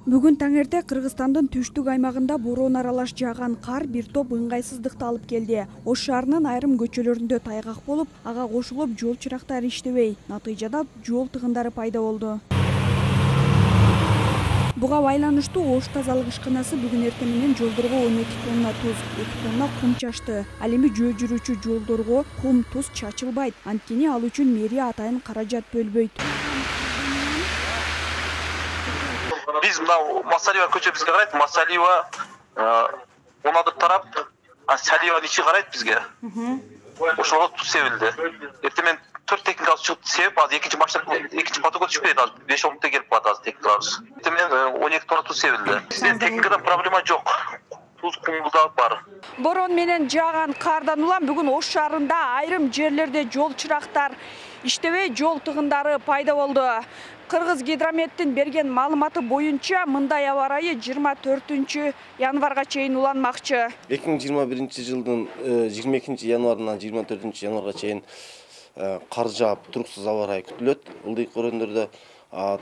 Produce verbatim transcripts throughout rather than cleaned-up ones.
Бүгүн таңерте Кыргызстандын түштүк аймагында бороон аралаш жааган кар бир топ ыңгайсыздыкты алып келди. Ош шаарынын айрым көчөлөрүндө тайгак болуп, ага кошулуп жол чырактары иштебей, натыйжада жол тыгындары пайда болду. Буга байланыштуу Ош тазалык ишканасы бүгүн эртең менен жолдорго он эки тонна туз, эки тонна кум чачты. Ал эми жөө жүрүүчү жолдорго кум, туз чачылбайт. Анткени ал үчүн мэрия атайын каражат бөлбөйт. Биз мына Масалиева көчө бизге карайт, Масалиева он адыр тарап, Салиеванын ичи карайт бизге. Ошого туз себилди. Эртең менен төрт техникалык чыгып себип, азыр экинчи машина, экинчи потокко түшүп кетет, азыр беш он мүнөттө келип калат азыр техникаларыбыз. Эртең менен он эки тонна туз себилди. Бизде техникадан проблема жок. Туз кум да бар. Бороон менен жааган кардан улам бүгүн Ош шаарында айрым жерлерде жол чырактар иштебей, жол тыгындары пайда болду. Кыргыз гидрометтин берген маалыматы боюнча мындай аба ырайы жыйырма төртүнчү январга чейин уланмакчы. эки миң жыйырма биринчи жылдын жыйырма экинчи январынан жыйырма төртүнчү январга чейин кар жаап, туруксуз аба ырайы күтүлөт. Ылдыйк өрөөндөрдө,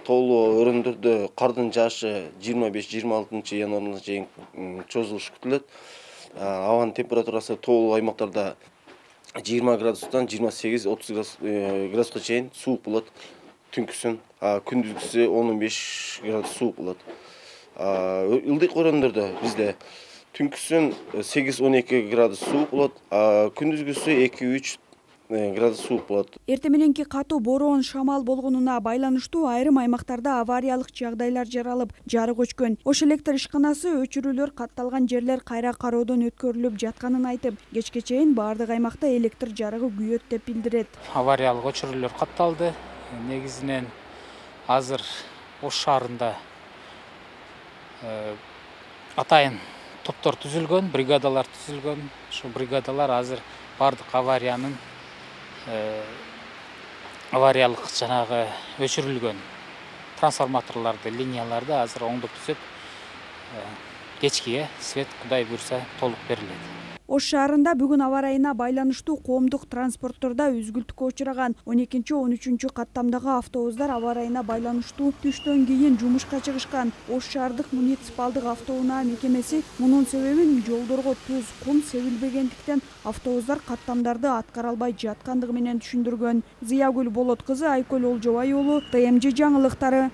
тоолуу өрөөндөрдө кардын жаашы жыйырма беш жыйырма алтынчы январга чейин чозулушу күтүлөт. Абанын температурасы тоолуу аймактарда жыйырма градустан жыйырма сегиз отуз градуска чейин суук болот. Түнкүсүн, күндүзгүсү он беш градус суук болот. Ылдык өрөөндөрдө бизде түнкүсүн сегиз он эки градус суук болот, күндүзгүсү эки үч градус суук болот. Эртең мененки катуу бороон, шамал болгонуна байланыштуу айрым аймактарда авариялык жагдайлар жаралып, жарык өчкөн. Ош электр ишканасы өчүрүүлөр катталган жерлер кайра кароодон өткөрүлүп жатканын айтып, кечке чейин баардык аймакта электр жарыгы күйөт деп билдирет. Авариялык өчүрүүлөр катталды. Негизинен азыр Ош шаарында атайын топтор түзүлгөн, бригадалар түзүлгөн. Ошо бригадалар азыр бардык авариянын авариялык жанагы өчүрүлгөн трансформаторлорду, линияларды азыр оңдоп түзөп, кечкиге свет Кудай буйрса толук берилет. Ош шаарында бүгүн аба ырайына байланыштуу коомдук транспорттордо үзгүлтүккө учураган он экинчи он үчүнчү каттамдагы автобустар аба ырайына байланыштуу түштөн кийин жумушка чыгышкан. Ош шаардык муниципалдык автоунаа мекемеси мунун себебин жолдорго туз, кум себилбегендиктен автобустар каттамдарды аткара албай жаткандыгы менен түшүндүргөн. Зыягүл Болот кызы, Айкөл Олжобай уулу, Т М Ж жаңылыктары.